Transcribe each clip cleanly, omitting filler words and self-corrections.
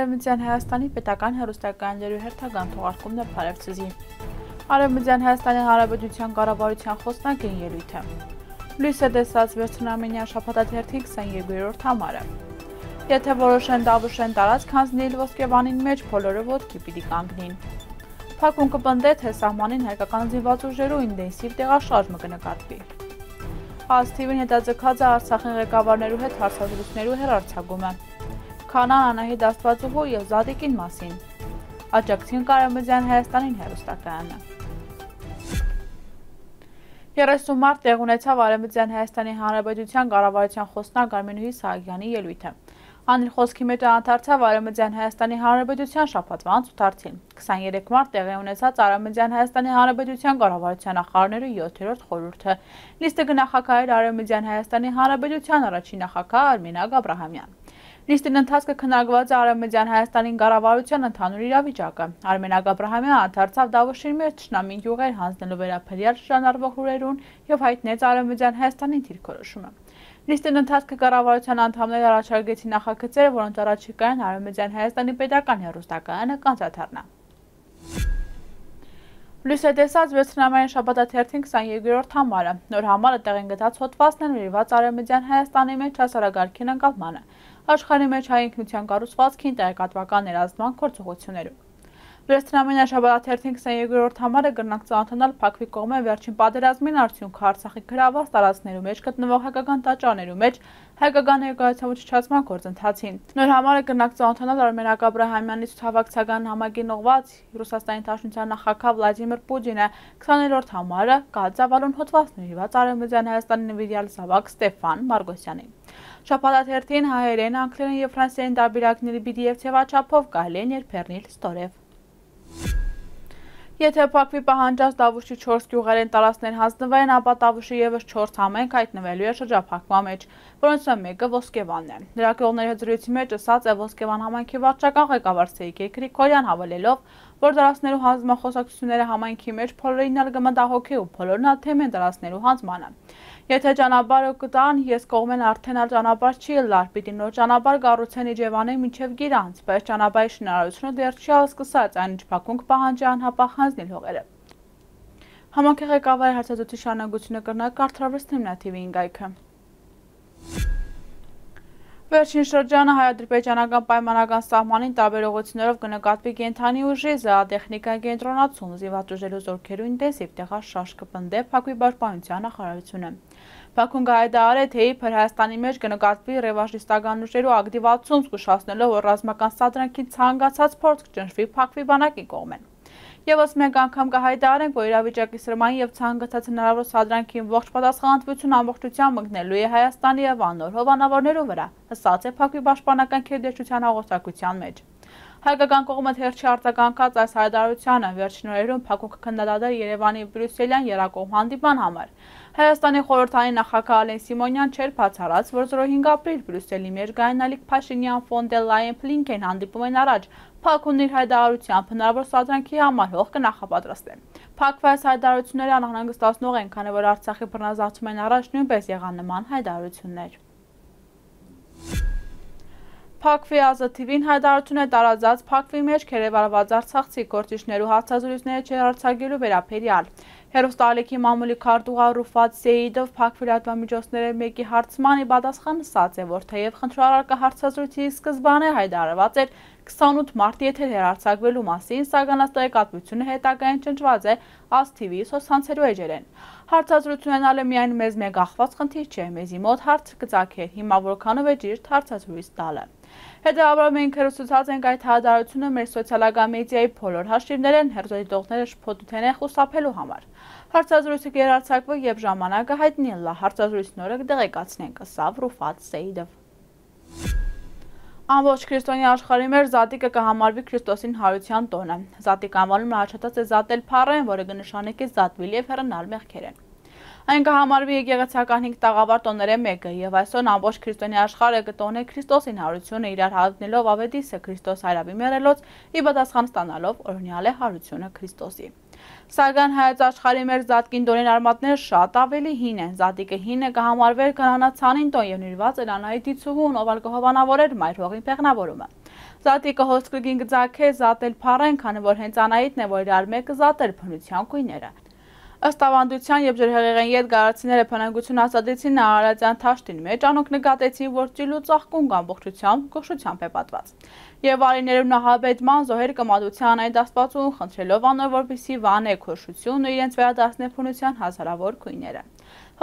Արևմտյան Հայաստանի պետական հեռուստակայանների հերթական թողարկումն է Փարեվցզի։ Արևմտյան Հայաստանի Հանրապետության կառավարության խոսնակին ելույթը։ Լույս է տեսած վերջնամենյան շաբաթաթերթի 22-րդ համարը։ Եթե որոշեն Դավուշեն տարածք հանձնել Ոսկեվանին մեջ, բոլորը ոտքի պիտի կանգնին։ Փակում կպնդե, թե սահմանին հայկական զինված ուժերու ինտենսիվ տեղաշարժը կնկատվի։ ԱՍՏՎ-ին հետաձգած է Արցախի ղեկավարներու հետ հարցազրույցներու հեռարձակումը։ Քանան Անահիտ Աստվածուհու եւ Զադիկին մասին։ Աջակցին Արևմտյան Հայաստանին հեռուստակայանը։ 30 մարտ տեղ ունեցավ Արևմտյան Հայաստանի Հանրապետության կառավարության խոսնակ Արմենուհի Սահակյանի ելույթը։ Անիր խոսքի մեջ անդրադարձավ Արևմտյան Հայաստանի Հանրապետության շաբաթվա ցուցարցին։ 23 մարտ տեղի ունեցած Արևմտյան Հայաստանի Հանրապետության կառավարության նախարարներու 7-րդ խորհուրդը։ Նիստը գնահատակայր Արևմտյան Հայաստանի Հանրապետության առաջին նախագահ Արմինակ Աբրահամյան։ Նիստին ընթացքը քննարկված է Արևմտյան Հայաստանի կառավարության ընդհանուր իրավիճակը։ Արմենակ Աբրահամյանը անդրադարձավ Դավուշի մեջ թշնամի յուղեր հանձնելու վերաբերյալ շրջանառվող հյուրերուն եւ հայտնեց Արևմտյան Հայաստանի դիրքորոշումը։ Նիստին ընթացքը կառավարության անդամները առաջարկեցին նախագծերը, որոնց առաջիկայում Արևմտյան Հայաստանի պետական հեռուստակայանը կանցադառնա։ Լույս է տեսած վերջնամենային շաբաթաթերթին 22-րդ համարը։ Նոր համարը տեղին գտած հոդվածն է նվիրված Արևմտյան Հայաստանի մեջ հասարակարգին ընկալմանը, աշխարհի մեջ հայ ինքնության կառուցվածքին տեղեկատվական ներազդման գործողություններում։ Վերջնամենային շաբաթաթերթին 22-րդ համարը կրնակ ծանոթանալ Փակվի կողմէ վերջին պատերազմին արդյունքը Արցախի գրաված տարածքներու մեջ գտնվող հայկական տաճարներու մեջ հայկական ներկայացման ուշադրության գործընթացին։ Նոր համարը կրնակ ծանոթանալ Արմենակ Աբրահամյանի ցուցահավաքական համագին ուղված Ռուսաստանի Դաշնության նախագահ Վլադիմիր Պուտինը 20-րդ համարը կհայտարարուն հոդված նվիրված Արևմտյան Հայաստանի նվիրյալ զավակ Ստեփան Մարգոսյանին։ Շաբաթաթերթին հայերեն, անգլերեն եւ ֆրանսերեն տարբերակների PDF թեվաչափով կարելի է ներբեռնել ստորև։ Եթե Փակվի պահանջած Դավուշի 4 գյուղերեն տարածքներ հանձնվեն, ապա Դավուշի եւս 4 համայնք հայտնվելու է շրջափակման մեջ, որոնցից մեկը Ոսկեվանն է։ Լրագրողների հետ զրույցի մեջ ասաց է Ոսկեվան համայնքի վարչական ղեկավար Սերգեյ Գրիգորյան, հավելելով, որ տարածքներու հանձնման խոսակցությունները համայնքի մեջ բոլորին ալ կմտահոգի ու բոլորն ալ թեմ են տարածքներու հանձնմանը։ Եթե ճանապարհը կտան, ես կողմեն արդեն ալ ճանապարհ չի լար, պիտի նոր ճանապարհ կառուցեն Իջևանին մինչև Գիրանց, բայց ճանապարհի շինարարությունը դեռ չի սկսած, այն ինչ Բաքուն կպահանջի անհապաղ հանձնել հողերը։ Համայնքի ղեկավարի հարցազրույցի շարունակությունը կրնակ կարդարվեց թեմնատիվի ինգայքը։ Վերջին շրջանը հայ-ադրբեջանական պայմանական սահմանին տարբեր ուղղություններով կնկատվի կենդանի ուժի զրահատեխնիկայի կենտրոնացում, զինված ուժերու զորքերու ինտենսիվ տեղաշարժ կպնդե Փակվի պաշտպանության նախարարությունը։ Բաքուն կհայտարարե, թե իբր Հայաստանի մեջ կնկատվի ռևանշիստական ուժերու ակտիվացում, զգուշացնելով, որ ռազմական սադրանքի ցանկացած փորձ կճնշվի Փակվի բանակի կողմեն։ Եվս մեկ անգամ կհայտարարենք, որ իրավիճակի սրմային եւ ցանկացած հնարավոր սադրանքին ողջ պատասխանատվություն ամբողջությամբ մգնելու է Հայաստանի եւ անոր հովանավորներու վրա, ասաց է Փակվի պաշտպանական քերդեչության հաղորդակցության մեջ։ Հայկական կողմը թերչի արձագանքած այս հայտարարությանը վերջին օրերում Փակուն կքննադատել Երևանի Բրյուսելյան երակողմ հանդիպման համար։ Հայաստանի խորհրդային նախագահ Ալեն Սիմոնյան չէր բացառած, որ 05 ապրիլ Բրյուսելի մեջ Գայնալիկ Փաշինյան ֆոն դեր Լայեն Բլինքեն հանդիպումեն առաջ Փակունն իր հայտարարությամբ հնարավոր սադրանքի համար հող կնախապատրաստեն։ Փակվի այս հայտարարությունները անհանգստացնող են, քանի որ Արցախի բռնազավթումեն առաջ նույնպես եղան նման հայտարարություններ։ Փակվի ԱԶՏՎ-ին հայտարարություն է տարածած Փակվի մեջ քերեվարված արցախցի գործիչներու հարցազրույցները չհարցակելու վերաբերյալ։ Հերոստալիքի մամուլի քարտուղար Ռուֆատ Սեյիդով Փակվի լրատվամիջոցների մեկի հարցմանի պատասխան ասաց է, որ թեև խնդրարարка հարցազրույցի սկզբանե հայտարարված էր 28 մարտ եթեր հեռարձակվելու մասին, սակայն ըստ տեղեկատվությունը հետագային ճնշված է ԱՍՏՎ-ի սոցցանցերու էջերեն։ Հարցազրույցն ալ է միայն մեզ մեկ ախված խնդիր չէ, մեզի մոտ հարց կծագեր, հիմա որքանով է ճիշտ հարցազրույց տալը։ Հետևաբար մենք հերոսացած ենք այդ հայտարարությունը մեր սոցիալական մեդիայի բոլոր հաշիվներեն հերոսադիտողները շփոթության են խուսափելու համար։ Հարցազրույցը կհեռարձակվի եւ ժամանակը հայտնի լա, հարցազրույցն օրը կդեղեկացնենք, ասավ Ռուֆատ Սեյիդով։ Ամբողջ քրիստոնյա աշխարհի մեջ Զատիկը կհամարվի Քրիստոսին հարության տոնը։ Զատիկ անվանումը հաշտած է զատել փառեն, որը կնշանակի զատվել եւ հեռանալ մեղքերեն։ Այն կհամարվի եկեղեցական 5 տաղավար տոներեն մեկը եւ այսօր ամբողջ քրիստոնյա աշխարհը կտոնե Քրիստոսին հարությունը իրար հավնելով ավետիսը Քրիստոս հայրավի մերելոց ի պատասխան ստանալով օրհնյալ է հարությունը Քրիստոսի։ Սակայն հայոց աշխարհի մեր զատկին տոնին արմատները շատ ավելի հին են։ Զատիկը հինը կհամարվեր կանանացանին տոն եւ նիրված էր Անահիտի ցուհուն, ով ալ կհովանավորեր մայր հողին փեղնավորումը։ Զատիկը հոսքրգին գծակե զատել փառեն, քանի որ հենց Անահիտն է, որ իրար մեկը զատել փնության կույները։ Ըստ ավանդության, երբ ջրհեղեղեն ետգարացիները փնանգություն հաստատեցին Նահարազյան թաշտին մեջ, անոնք նկատեցին, որ ծիլու ծաղկունք ամբողջությամբ գոշությամբ է պատված։ Եվ արիներում նահաբեդման զոհեր կմատության Անահիտ Աստվածուն խնդրելով անոր, որպեսզի վանե քոշություն ու իրենց վերադարձնե փնության հազարավոր քույները։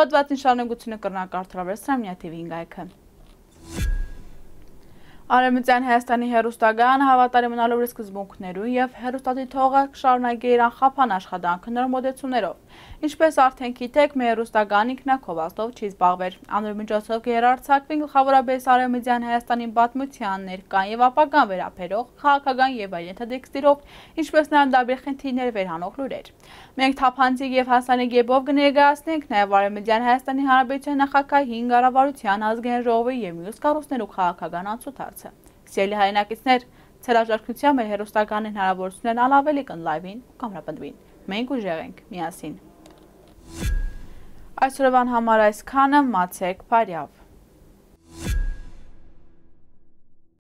Հոդվածին շարունակությունը կրնակարդարվեց Սամնյա TV-ին գայքը։ Արևմտյան Հայաստանի հեռուստակայանը հավատարիմ մնալու իր սկզբունքներուն եւ հեռուստադիտողը կշարունակի իր անխափան աշխատանքը նոր մոդեցումներով։ Ինչպես արդեն գիտեք, մեր հեռուստակայանը ինքնակովածով չի զբաղվեր։ Անոր միջոցով կերարցակվին գլխավորապես Արևմտյան Հայաստանի պատմության ներկան եւ ապագան վերաբերող քաղաքական եւ այլ ենթատեքստերով, ինչպես նաեւ դաբիր խնդիրներ վերհանող լուրեր։ Մենք թափանցիկ եւ հասանելի կերպով կներկայացնենք նաեւ Արևմտյան Հայաստանի Հանրապետության նախագահի 5 կառավարության ազգային ժողովի եւ մյուս կառույցներու քաղաքական անցուդարձը։ Սիրելի հայրենակիցներ, ցելաժարքնության մեր հեռուստականին հնարավորություններն ավելի կընլայվին ու կամրապնդվին։ Մենք ուժեղ ենք միասին։ Այսօրվան համար այսքանը, մացեք բարյավ։